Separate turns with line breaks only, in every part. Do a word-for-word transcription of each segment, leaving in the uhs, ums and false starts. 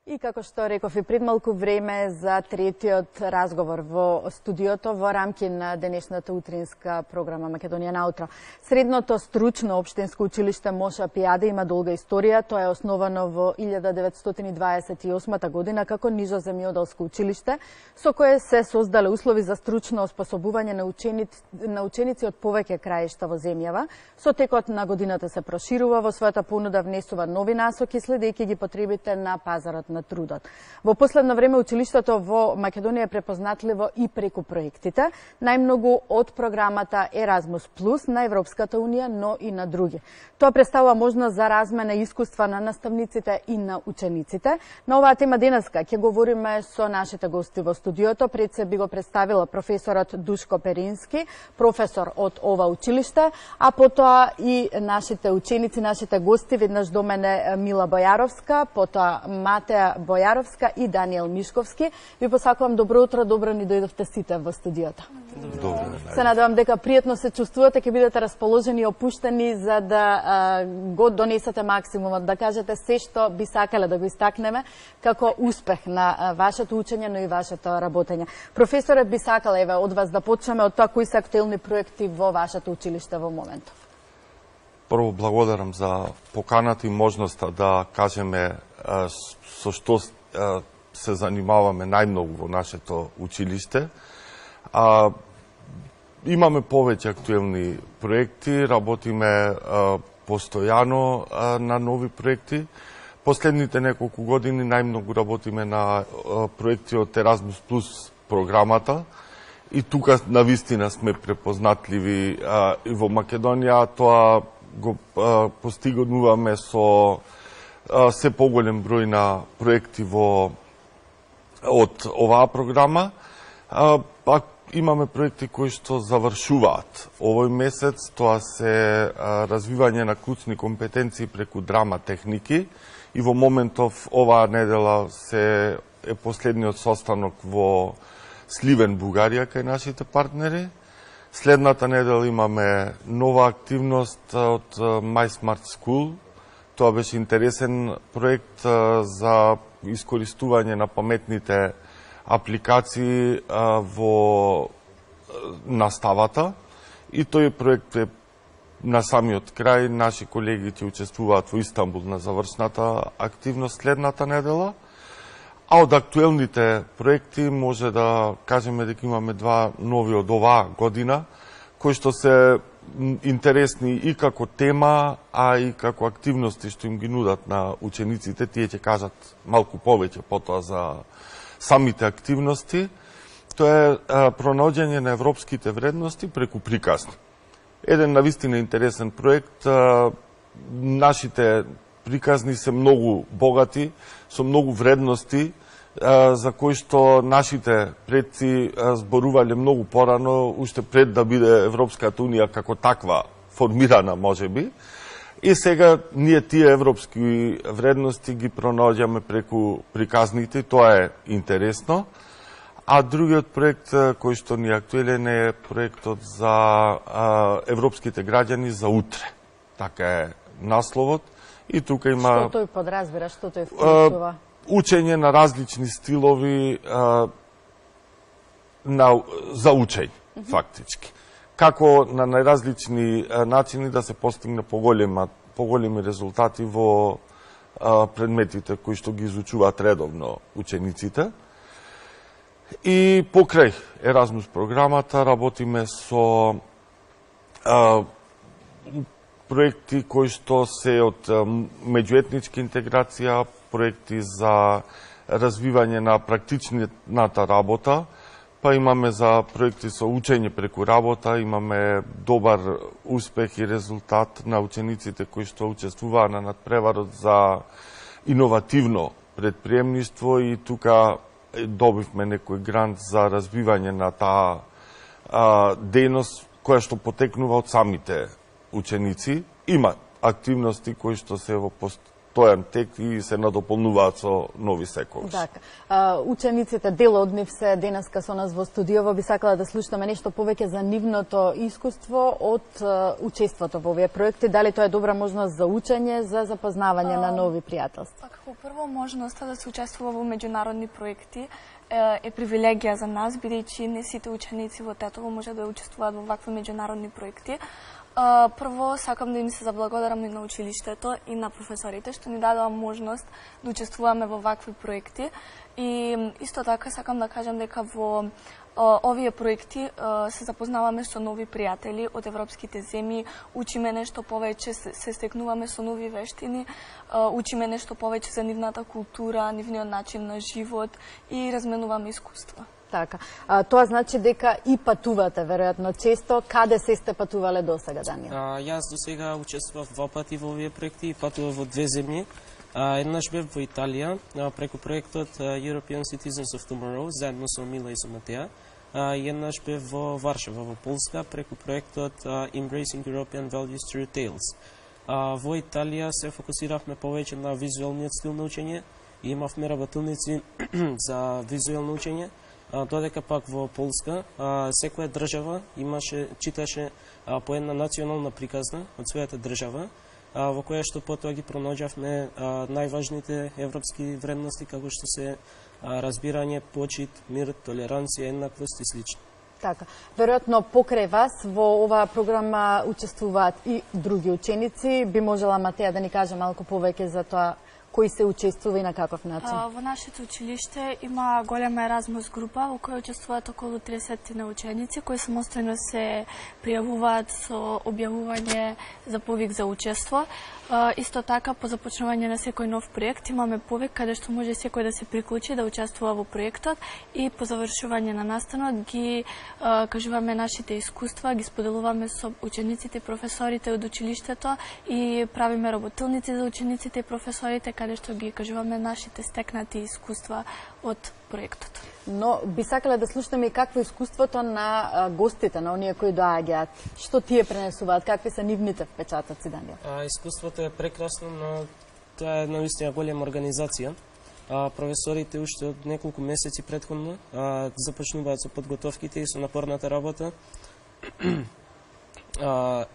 И како што реков и пред малку време за третиот разговор во студиото во рамки на денешната утринска програма Македонија наутро. Средното стручно општинско училиште Моша Пијаде има долга историја. Тоа е основано во илјада деветстотини дваесет и осма година како нижоземјоделско училиште, со кое се создале услови за стручно оспособување на ученици, на ученици од повеќе краишта во земјава. Со текот на годината се проширува, во својата понуда внесува нови насоки, следејќи ги потребите на пазарот на трудот. Во последно време училиштето во Македонија е препознатливо и преку проектите, најмногу од програмата Еразмус плюс на Европската унија, но и на други. Тоа представува можност за размена искуства на наставниците и на учениците. На оваа тема денеска ќе говориме со нашите гости во студиото. Пред се би го представила професорот Душко Перински, професор од ова училиште, а потоа и нашите ученици, нашите гости, веднаш до мене Мила Бојаровска, потоа Матеа Бојаровска и Даниел Мишковски. Ви посакувам добро утро, добро ни дојдовте сите во студиото.
Добро.
Се надевам дека пријатно се чувствувате, ќе бидете расположени и опуштени за да а, го донесете максимумот, да кажете се што би сакале да го истакнеме како успех на а, вашето учење, но и вашето работење. Професоре, би сакале еве од вас да почнеме од тоа кои се актуелни проекти во вашето училиште во моментов.
Прво благодарам за поканата и можноста да кажеме а, со што а, се занимаваме најмногу во нашето училиште. А, имаме повеќе актуелни проекти, работиме а, постојано а, на нови проекти. Последните неколку години најмногу работиме на а, проекти од Еразмус плюс програмата и тука навистина сме препознатливи а, и во Македонија. Тоа го а, постигнуваме со а, се поголем број на проекти во од оваа програма. А, па имаме проекти кои што завршуваат овој месец. Тоа се а, развивање на клучни компетенции преку драма техники и во моментов оваа недела се е последниот состанок во Сливен, Бугарија, кај нашите партнери. Следната недела имаме нова активност од My Smart School. Тоа беше интересен проект за искористување на паметните апликации во наставата. И тој проект е на самиот крај. Наши колеги ќе учествуваат во Истанбул на завршната активност следната недела. А од актуелните проекти може да кажеме дека имаме два нови од оваа година, кои што се интересни и како тема, а и како активности што им ги нудат на учениците. Тие ќе кажат малку повеќе потоа за самите активности. Тоа е пронаоѓање на европските вредности преку приказни. Еден навистина интересен проект. Нашите приказни се многу богати, со многу вредности, за кои што нашите предци зборувале многу порано, уште пред да биде Европската унија како таква формирана, можеби. И сега ние тие европски вредности ги пронаоѓаме преку приказните, тоа е интересно. А другиот проект кој што ни е актуелен е проектот за а, европските граѓани за утре. Така е насловот. И тука има...
Што тој подразбира, што тој вклучува?
Учење на различни стилови а, на, за учење, mm -hmm. фактички. Како на најразлични а, начини да се постигне поголема, поголеми резултати во а, предметите кои што ги изучуваат редовно учениците. И покрај Еразмус програмата работиме со а, проекти кои што се од меѓуетничка интеграција, проекти за развивање на практичната работа, па имаме за проекти со учење преку работа, имаме добар успех и резултат на учениците кои што учествуваа на надпреварот за иновативно предприемништво и тука добивме некој грант за развивање на таа а, дејност која што потекнува од самите ученици. Има активности кои што се во пост, постојан тек и се надополнуваат со нови секогаш.
Така. Учениците, дел од нив се денеска со нас во студиово, би сакала да слушаме нешто повеќе за нивното искуство од учеството во овие проекти. Дали тоа е добра можност за учење, за запознавање на нови пријателства?
Како прво, можноста да се учествува во меѓународни проекти е привилегија за нас, бидејќи не сите ученици во Тетово може да учествуваат во вакви меѓународни проекти. Прво, сакам да им се заблагодарам и на училиштето и на професорите што ни дадоа можност да учествуваме во вакви проекти. И исто така сакам да кажам дека во овие проекти се запознаваме со нови пријатели од европските земји, учиме нешто повеќе, се стекнуваме со нови вештини, учиме нешто повеќе за нивната култура, нивниот начин на живот и разменуваме искуства.
Така. А, тоа значи дека и патувате, веројатно, често. Каде се сте патувале до сега, Даниел?
А, јас до сега учествував два пати во овие проекти и патував во две земји. А, еднаш бев во Италија, а, преку проектот European Citizens of Tomorrow, заедно со Мила и со Матеја. А, и еднаш бев во Варшава, во Полска, преку проектот а, Embracing European Values Through Tales. А, во Италија се фокусиравме повеќе на визуелниот стил на учење и имавме работилници за визуелно учење. Додека пак во Полска, а, секоја држава имаше, читаше а, по една национална приказна од својата држава, а, во која што потоа ги пронаѓавме најважните европски вредности, како што се а, разбирање, почит, мир, толеранција, еднаквост и слично.
Така. Веројатно покрај вас во оваа програма учествуваат и други ученици. Би можела Матеја да ни каже малку повеќе за тоа кои се учествува и на каков начин?
А, во нашето училиште има голема Еразмус група во која учествуваат околу триесет на ученици кои самостојно се пријавуваат со објавување за повик за учество. А, исто така, по започнување на секој нов проект имаме повик каде што може секој да се приклучи да учествува во проектот и по завршување на настанот ги а, кажуваме нашите искуства, ги споделуваме со учениците и професорите од училиштето и правиме работилници за учениците и професорите каде што ги кажуваме нашите стекнати искуства од проектот.
Но би сакале да слушнеме и какво искуството на а, гостите, на оние кои доаѓаат. Што тие пренесуваат, какви се нивните впечатоци, Даниел?
А, искуството е прекрасно, но тоа е наистина голема организација. А, професорите уште од неколку месеци претходно а, започнуваат со подготовките и со напорната работа. а,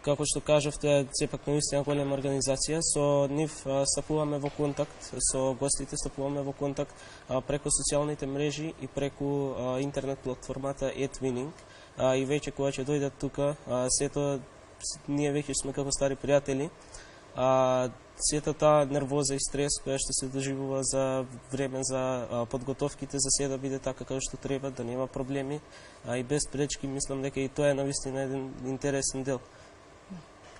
Како што кажавте, е сепак наистина голема организација. Со нив стапуваме во контакт, со гостите стапуваме во контакт а, преку социјалните мрежи и преку а, интернет платформата eTwinning. А, и веќе кога ќе дојдат тука, а, сето ние веќе сме како стари пријатели. А, сета таа нервоза и стрес која што се доживува за време за а, подготовките за се да биде така како што треба, да нема проблеми, а и без пречки, мислам дека и тоа е навистина еден интересен дел.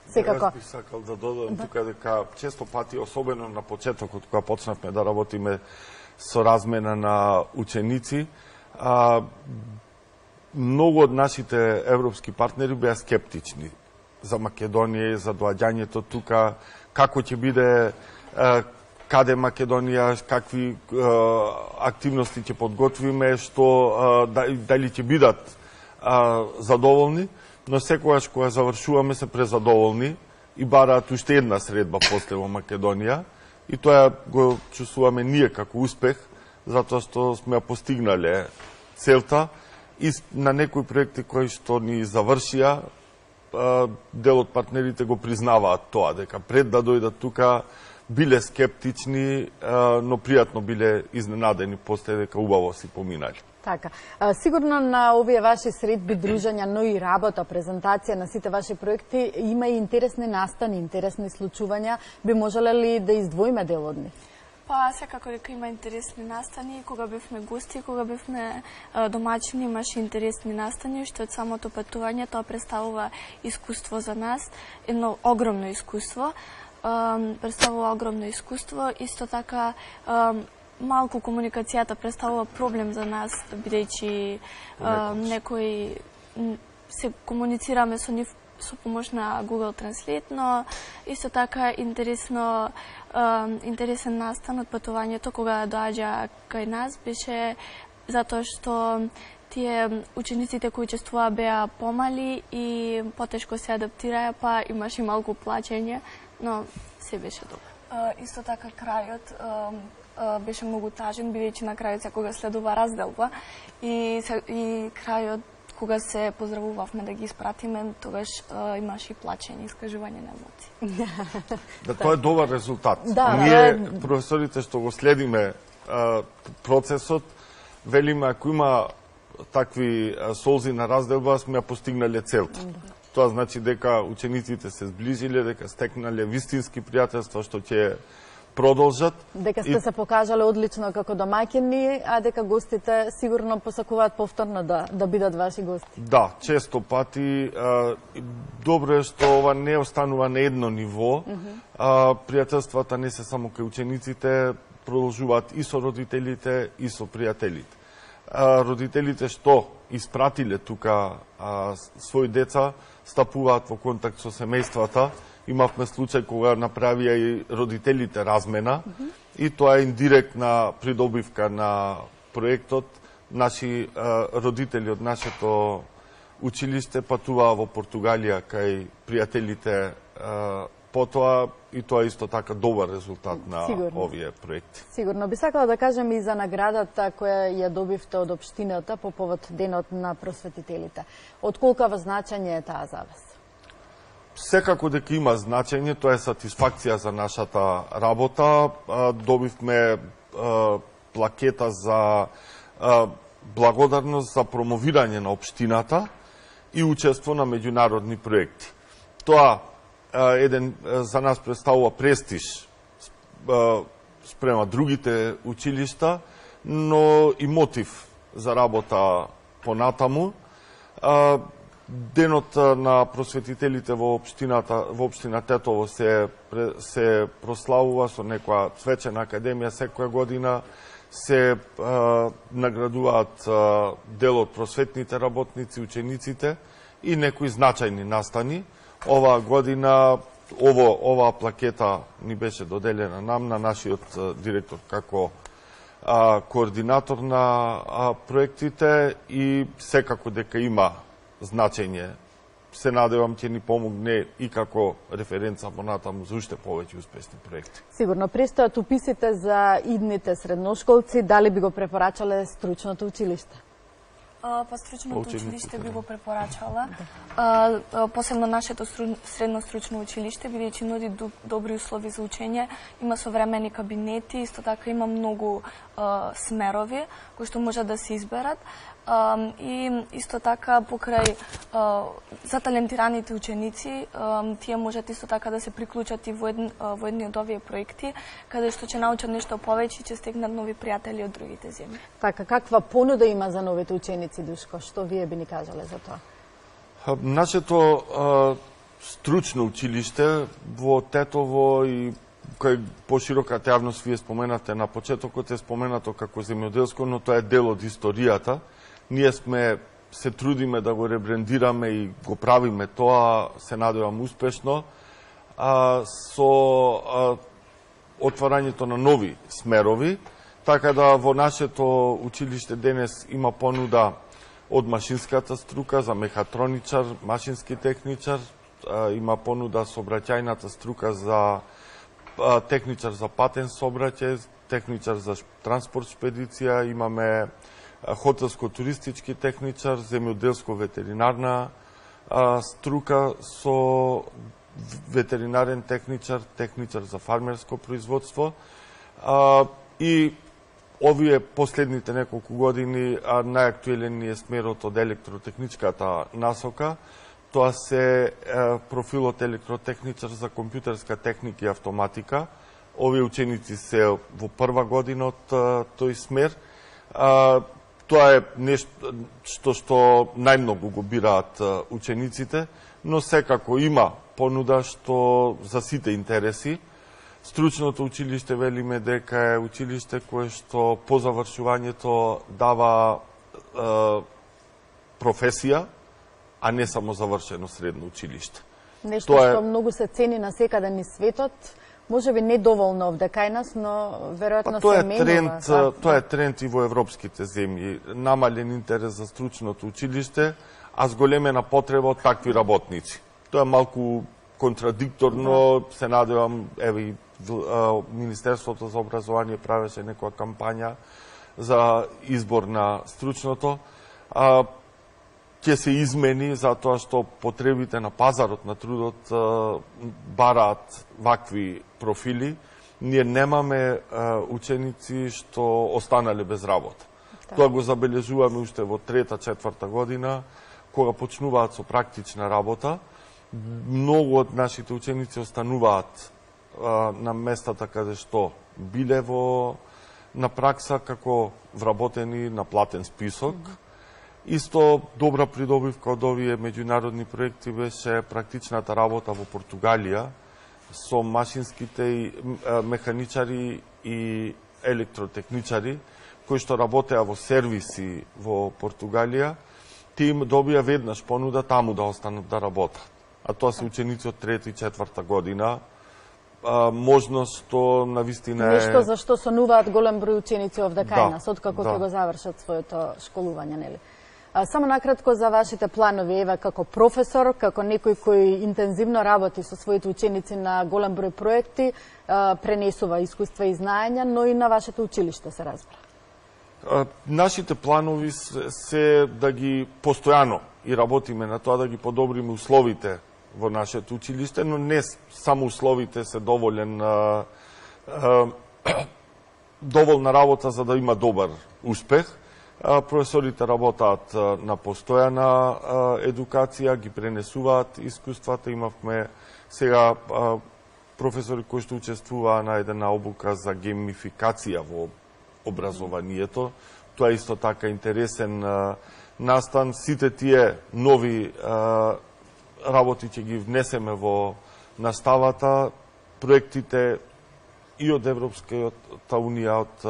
Секако.
Јас би сакал да додадам тука дека често пати, особено на почетокот кога почнавме да работиме со размена на ученици, а, многу од нашите европски партнери беа скептични за Македонија и за доаѓањето тука, како ќе биде, а, каде Македонија, какви а, активности ќе подготвиме, што а, дали ќе бидат а, задоволни. Но секогаш кога завршуваме се презадоволни и бараат уште една средба после во Македонија и тоа го чувствуваме ние како успех, затоа што сме постигнале целта и на некои проекти кои што ни завршија, дел од партнерите го признаваат тоа, дека пред да дојдат тука биле скептични, но пријатно биле изненадени после дека убаво си поминали.
Така. А, сигурно на овие ваши средби, дружења, но и работа, презентација на сите ваши проекти има и интересни настани, интересни случувања. Би можеле ли да издвоиме дел од нив?
Па, секако дека има интересни настани. Кога бевме гости, кога бевме а, домачини, имаше интересни настани, што од самото патување тоа представува искуство за нас, едно огромно искуство. А, представува огромно искуство. Исто така, а, малку комуникацијата представува проблем за нас, бидејќи некои се комуницираме со нив со помош на Google Translate, но исто така интересно интересен настан од патувањето кога доаѓа кај нас беше затоа што тие учениците кои учествуваа беа помали и потешко се адаптираа, па имаше малку плачење, но се беше добро. Исто така крајот беше многу тажен, бидејќи на крајот секога следува разделба и, и крајот кога се поздравувавме да ги испратиме, тогаш а, имаше и плачење, искажување на емоции.
Да, тоа е добар резултат.
Да,
Ние,
да.
професорите што го следиме а, процесот, велиме ако има такви а, солзи на разделба, сме ја постигнале целта. Да. Тоа значи дека учениците се сближиле, дека стекнале вистински пријателства што ќе продолжат.
Дека сте и... се покажале одлично како домаќини, а дека гостите сигурно посакуваат повторно да, да бидат ваши гости.
Да, често пати. А, добро е што ова не останува на едно ниво. Mm -hmm. а, пријателствата не се само кај учениците, продолжуваат и со родителите, и со пријателите. А, родителите што испратиле тука а, своји деца, стапуваат во контакт со семејствата. Имавме случај кога направија и родителите размена, mm -hmm. и тоа е индиректна придобивка на проектот. Наши а, родители од нашето училиште патуваа во Португалија кај пријателите а, потоа, и тоа е исто така добар резултат на Сигурно. овие проекти.
Сигурно. Би сакала да кажем и за наградата која ја добивте од општината по повод Денот на просветителите. Од колкава значење е таа за вас?
Секако дека има значење, тоа е сатисфакција за нашата работа. Добивме плакета за благодарност за промовирање на општината и учество на меѓународни проекти. Тоа еден за нас представува престиж спрема другите училишта, но и мотив за работа понатаму. Денот на просветителите во општината, во општина Тетово се се прославува со некоја свечена академија секоја година, се е, наградуваат е, дел од просветните работници, учениците и некои значајни настани. Оваа година ово оваа плакета ни беше доделена нам, на нашиот е, директор како е, координатор на е, проектите, и секако дека има значење. Се надевам ќе ни помогне и како референца понатаму за уште повеќе успешни проекти.
Сигурно престојат уписите за идните средношколци, дали би го препорачале стручното училиште?
А, па стручното училиште би го препорачала. А, а, посебно нашето средно стручно училиште, бидејќи нуди добри услови за учење, има современи кабинети, исто така има многу а, смерови кои што може да се изберат. Um, и исто така покрај uh, за талентираните ученици, um, тие можат исто така да се приклучат и во, едн, uh, во едни од овие проекти, каде што ќе научат нешто повеќе и ќе стекнат нови пријатели од другите земји.
Така, каква понуда има за новите ученици, Душко? Што вие би ни кажале за тоа?
Нашето uh, стручно училиште во Тетово и кај пошироката јавност, вие споменате на почетокот, е споменато како земјоделско, но тоа е дел од историјата. Ние сме се трудиме да го ребрендираме и го правиме тоа, се надевам успешно, а, со а, отварањето на нови смерови, така да во нашето училиште денес има понуда од машинската струка за мехатроничар, машински техничар, а, има понуда сообраќајната струка за а, техничар за патен сообраќај, техничар за транспорт шпедиција, имаме хотелско-туристички техничар, земјоделско-ветеринарна струка со ветеринарен техничар, техничар за фармерско производство. А, и овие последните неколку години најактуелен е смерот од електротехничката насока. Тоа се е, профилот електротехничар за компјутерска техника и автоматика. Овие ученици се во прва година од тој смер. А, Тоа е нешто што, што најмногу го бираат учениците, но секако има понуда што за сите интереси. Стручното училиште велиме дека е училиште кое што по завршувањето дава е, професија, а не само завршено средно училиште.
Нешто Тоа што е... многу се цени на секаде низ светот. Може би не доволно овде кај нас, но веројатно
па,
се менува.
Тренд, да? Тоа е тренд и во европските земји. Намален интерес за стручното училиште, а зголемена потреба од такви работници. Тоа е малку контрадикторно, се надевам, еве и Министерството за образование правеше некоја кампања за избор на стручното. А, ќе се измени затоа што потребите на пазарот на трудот а, бараат вакви профили. Ние немаме а, ученици што останале без работа. Да. Тоа го забележуваме уште во трета, четврта година, кога почнуваат со практична работа. Многу од нашите ученици остануваат а, на местата каде што биле во на пракса како вработени на платен список. Mm-hmm. Исто добра придобивка од овие меѓународни проекти беше практичната работа во Португалија со машинските и механичари и електротехничари кои што работеа во сервиси во Португалија. Тие им добија веднаш понуда таму да останат да работат. А тоа се ученици од трета и четврта година. А, можност што навистина е...
Нешто за што сонуваат голем број ученици овде кај
да,
нас, откако
да.
ќе го завршат своето школување, нели? А, само накратко за вашите планови, еве како професор, како некој кој интензивно работи со своите ученици на голем број проекти, а, пренесува искуства и знаења, но и на вашето училиште се разбра.
А, нашите планови се, се да ги постојано и работиме на тоа да ги подобриме условите во нашето училиште, но не само условите се доволен а, а, доволна работа за да има добар успех. А, професорите работаат а, на постојана а, едукација, ги пренесуваат искуствата. Имавме сега а, професори кои што учествуваа на една обука за геймификација во образованието. Тоа е исто така интересен а, настан. Сите тие нови а, работи ќе ги внесеме во наставата. Проектите и од Европската унија, од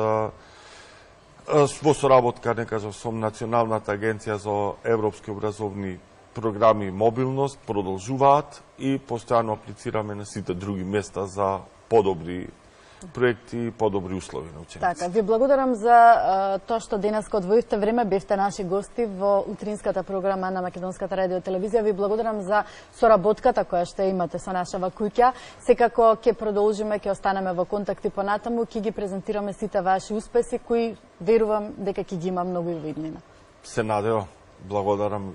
во соработка, не кажам, со Националната агенција за европски образовни програми и мобилност продолжуваат и постојано аплицираме на сите други места за подобри проекти и подобри услови на ученици.
Така, ви благодарам за а, тоа што денеска одвоивте време, бевте наши гости во утринската програма на Македонската радио телевизија. Ви благодарам за соработката која што имате со нашава куќа. Секако ќе продолжиме, ќе останеме во контакти понатаму, ќе ги презентираме сите ваши успеси кои верувам дека ќе ги има многу и во иднина.
Се надевам. Благодарам.